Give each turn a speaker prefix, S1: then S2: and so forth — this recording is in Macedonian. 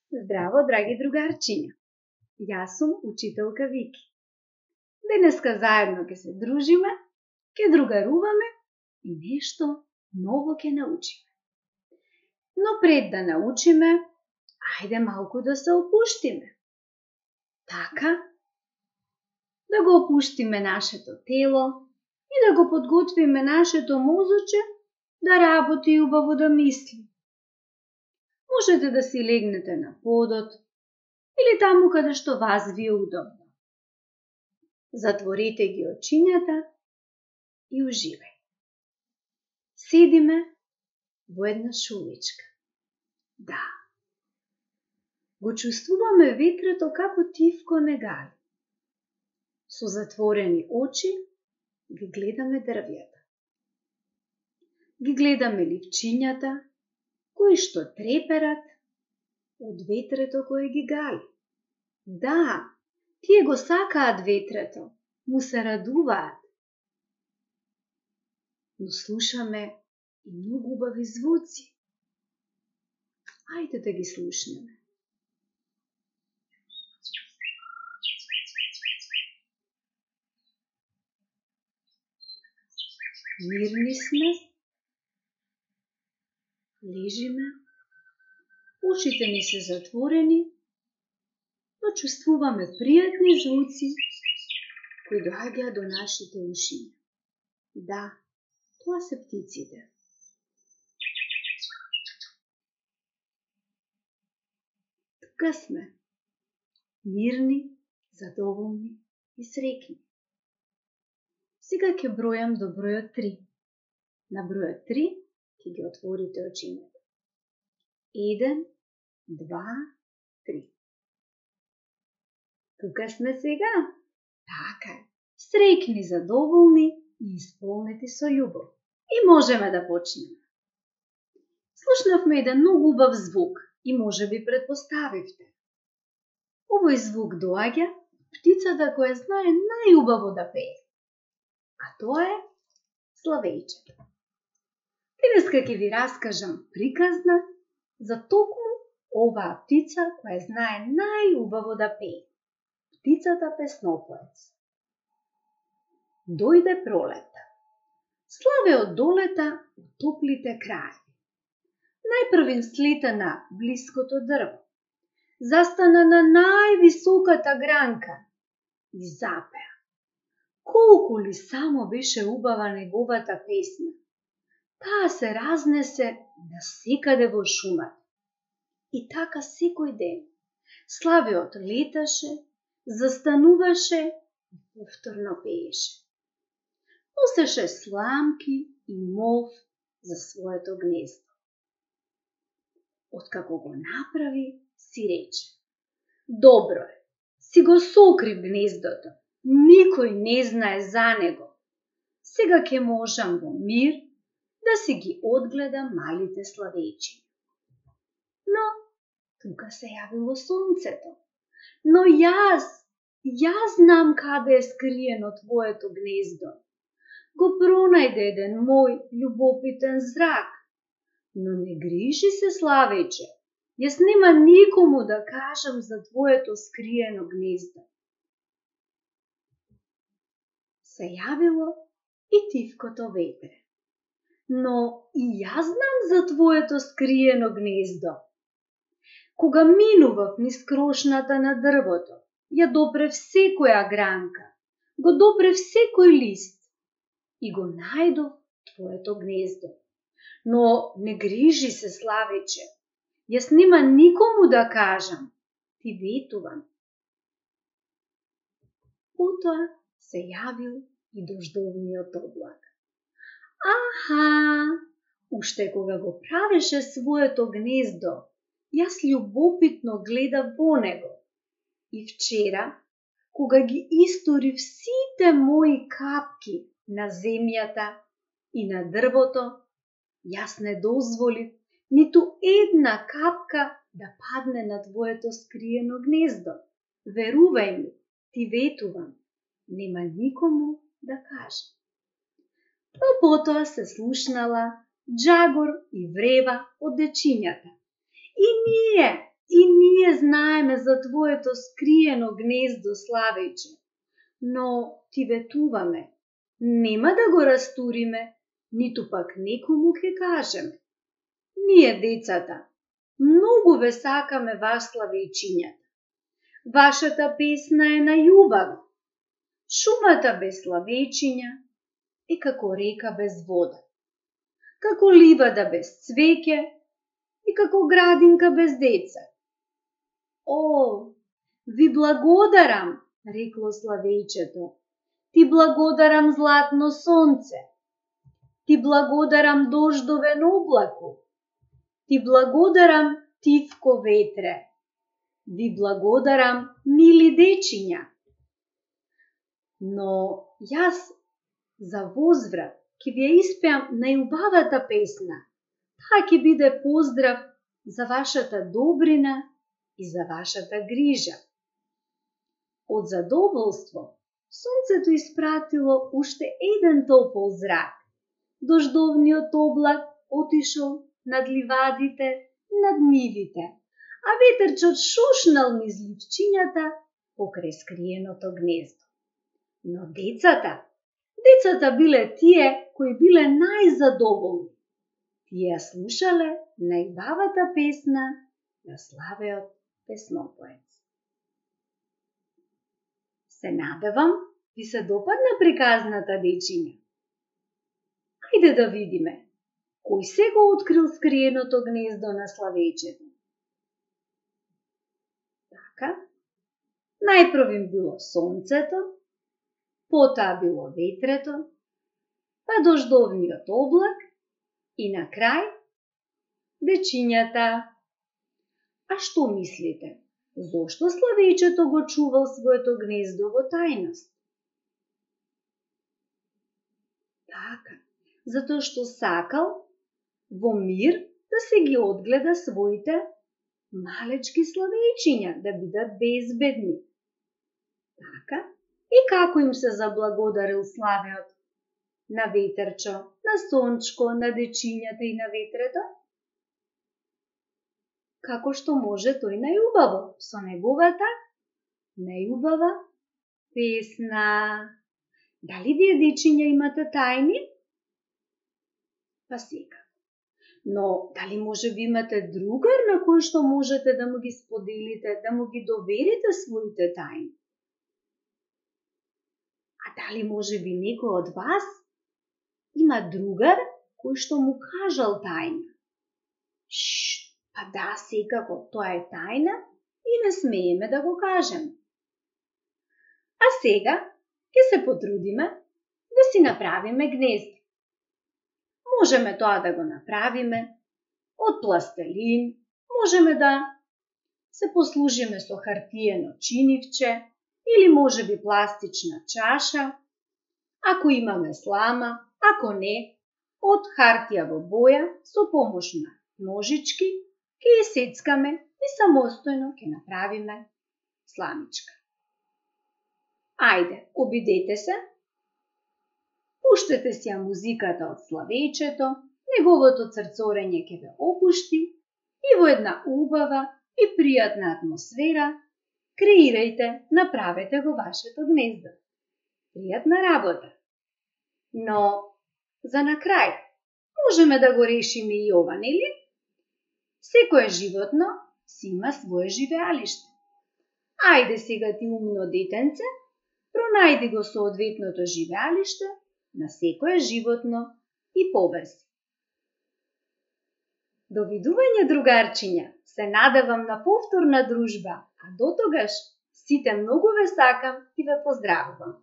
S1: Здраво, драги другарчиња. Јас сум учителка Вики. Денеска заедно ќе се дружиме, ќе другаруваме и нешто ново ќе научиме. Но пред да научиме, ајде малку да се опуштиме. Така, да го опуштиме нашето тело и да го подготвиме нашето мозоче да работи и убаво да мисли. Можете да си легнете на подот или таму каде што вас ви е удобно. Затворите ги очињата и уживај. Седиме во една шумичка. Да. Го чувствуваме ветрото како тивко негали. Со затворени очи ги гледаме дрвјата. Ги гледаме ливчињата кои што треперат од ветрето кое ги гали. Да, тие го сакаат ветрето, му се радуваат. Но слушаме и многу убави звуци. Ајде да ги слушнеме. Мирни сме, лежиме, ушите ни се затворени, но чувствуваме пријатни звуци кои доаѓаат до нашите ушиња. Да, тоа се птиците. Тука сме, мирни, задоволни и среќни. Сега ќе бројам до бројот 3. На бројот 3 ќе ги отворите очињата. 1, 2, 3. Тука сме сега. Така е. Среќни, задоволни и исполнети со љубов. И можеме да почнеме. Слушнавме еден многу убав звук и можеби претпоставивте. Овој звук доаѓа птицата која знае најубаво да пее. А тоа е славејчето. Денеска ќе ви раскажам приказна за токму оваа птица која знае најубаво да пее. Птицата песнопоец. Дојде пролета. Славеот долета у топлите краеви. Најпрв им слета на блиското дрво. Застана на највисоката гранка и запеа. Колку ли само беше убава неговата песна. Таа се разнесе насекаде во шумата. И така секој ден славеот леташе, застануваше и повторно пееше. Носеше сламки и мов за своето гнездо. Откако го направи, си рече: добро е, си го сокрив гнездото, никој не знае за него. Сега ќе можам во мир да си ги одгледам малите славејчиња. Но тука се јавило сонцето. Но јас знам каде е скриено твоето гнездо. Го пронајде еден мој љубопитен зрак. Но не грижи се, славејче, јас нема никому да кажам за твоето скриено гнездо. Се јавило и тивкото ветре. Но и јас знам за твоето скриено гнездо. Кога минував низ крошната на дрвото, ја допрев секоја гранка, го допрев секој лист и го најдов твоето гнездо. Но не грижи се, славејче, јас нема никому да кажам, ти ветувам. Потоа се јавил и дождовниот облак. Аха, уште кога го правеше своето гнездо, јас љубопитно гледав во него. И вчера, кога ги историв сите мои капки на земјата и на дрвото, јас не дозволив ниту една капка да падне на твоето скриено гнездо. Верувај ми, ти ветувам, нема никому да кажам. Но потоа се слушнала джагор и врева од дечињата. И ние за твоето скриено гнездо, славејче, но ти ветуваме, нема да го растуриме, ниту пак некому ке кажеме. Ние, децата, многу ве сакаме ваш славејчињата. Вашата песна е најубава. Шумата без славејчиња е како река без вода, како ливада без цвеќе и како градинка без деца. О, ви благодарам, рекло славејчето. Ти благодарам, златно сонце. Ти благодарам, дождовен облаку. Ти благодарам, тивко ветре. Ви благодарам, мили дечиња. Но јас за возврат ќе ви ја испеам најубавата песна. Таа ќе биде поздрав за вашата добрина и за вашата грижа. Од задоволство, сонцето испратило уште еден топол зрак. Дождовниот облак отишол над ливадите, над нивите, а ветерчот шушнал низ ливчињата покрај скриеното гнездо. Но децата биле тие кои биле најзадоволни. Тие слушале најубавата песна на славеот песнопоец. Се надевам ви се допадна приказната, дечиња. Ајде да видиме, кој се го открил скриеното гнездо на славејчето. Така, најпрв им било сонцето, потоа било ветрето, па дождовниот облак и на крај дечињата. А што мислите? Зошто славејчето го чувал своето гнездо во тајност? Така, затоа што сакал во мир да се ги одгледа своите малечки славејчиња, да бидат безбедни. Така, и како им се заблагодарил славеот на ветерчо, на сончко, на дечињата и на ветрето? Како што може тој најубаво, со неговата најубава песна. Дали вие, дечиња, имате тајни? Па сега. Но дали може би имате другар на кој што можете да му ги споделите, да му ги доверите своите тајни? А дали може би некој од вас има другар кој што му кажал тајна? Па да, секако, тоа е тајна и не смееме да го кажеме. А сега ќе се потрудиме да си направиме гнездо. Можеме тоа да го направиме од пластелин, можеме да се послужиме со хартиено чинивче или можеби пластична чаша, ако имаме слама, ако не, од хартија во боја со помош на ножички ќе ја сецкаме и самостојно ќе направиме сламичка. Ајде, обидете се, пуштете си ја музиката од славејчето, неговото црцорење ќе ве опушти и во една убава и пријатна атмосфера креирајте, направете го вашето гнездо. Пријатна работа. Но, за на крај, можеме да го решиме и ова, нели? Секое животно си има свое живеалиште. Ајде сега ти, умно детенце, пронајди го соодветното живеалиште на секое животно и поврзи. Довидување, другарчиња, се надевам на повторна дружба, а дотогаш сите многу ве сакам и ве поздравувам.